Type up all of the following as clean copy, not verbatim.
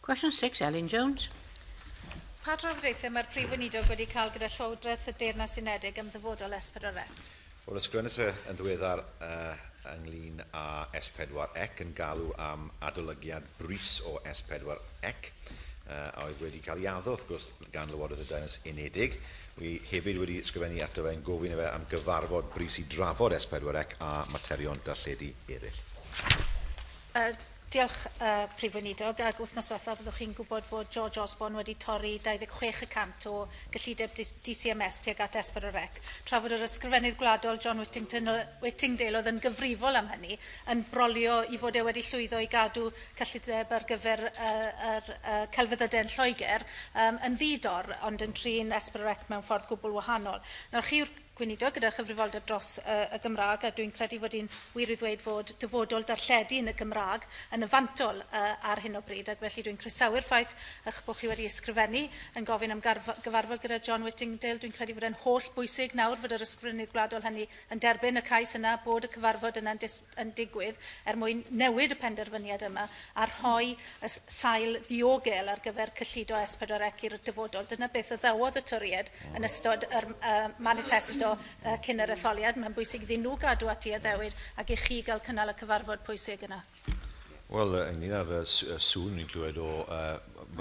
Question 6, Elin Jones. Pa drafodaethau mae'r Prif Weinidog wedi cael gyda Llywodraeth y Deyrnas Unedig am ddyfodol S4C? Wel, ysgrifennu e yn ddiweddar ynglyn â S4C yn galw am adolygiad brys o S4C, a oedd wedi cael ei addo, wrth gwrs, gan Lywodraeth y Deyrnas Unedig. Wi hefyd wedi ysgrifennu ato fe yn gofyn i fe am gyfarfod brys i drafod S4C a materion darlledu eraill. Diolch, Prif Weinidog, ac wythnos diwethaf byddwch chi'n gwybod fod George Osborne wedi torri 26% o gyllideb DCMS tuag at S4C, tra fod yr Ysgrifennydd Gwladol John Whittingdale oedd yn gyfrifol am hynny, yn brolio i fod e wedi llwyddo i gadw cyllideb ar gyfer yr celfyddydau yn Lloegr yn ddi-dor, ond yn trin S4C mewn ffordd gwbl wahanol. Nawr, chi yw'r Gweinidog gyda chyfrifoldeb dros y Gymraeg, a dwi'n credu fod hi'n wir i ddweud fod dyfodol darlledu yn y Gymraeg yn y fantol ar hyn o bryd, ac felly dwi'n croesawu'r ffaith eich bod chi wedi ysgrifennu yn gofyn am gyfarfod gyda John Whittingdale. Dwi'n credu fod e'n holl bwysig nawr fod yr Ysgrifennydd Gwladol hynny yn derbyn y cais yna, bod y cyfarfod yna'n yn digwydd er mwyn newid y penderfyniad yma a rhoi y sail ddiogel ar gyfer cyllido S4C i'r dyfodol. Dyna beth addawodd y Torïaid yn ystod yr manifesto cyn yr etholiad. Mae'n bwysig iddyn nhw gadw at ei addewid ac i chi gael cynnal y cyfarfod pwysig yna. Wel, ynglyn â'r sŵn ni'n clywed o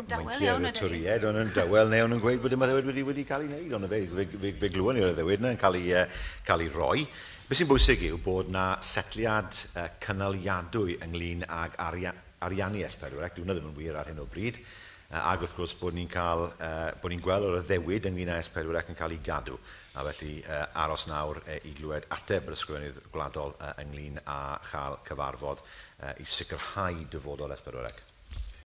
Dawel iawn meinciau'r ydyn ni. Torïaid, ond yn dawel neu ond yn gweud bod dim addewid wedi cael ei wneud, ond fe glywon ni'r addewid yna yn cael ei roi. Beth sy'n bwysig yw bod na setliad cynaliadwy ynglyn ag ariannu S4C, dyw hwnna ddim yn wir ar hyn o bryd, ac wrth gwrs bod ni'n cael, bod ni'n gweld yr addewid ynglyn â S4C yn cael ei gadw. A felly aros nawr i glywed ateb yr Ysgrifennydd Gwladol ynglyn â chael cyfarfod i sicrhau dyfodol S4C.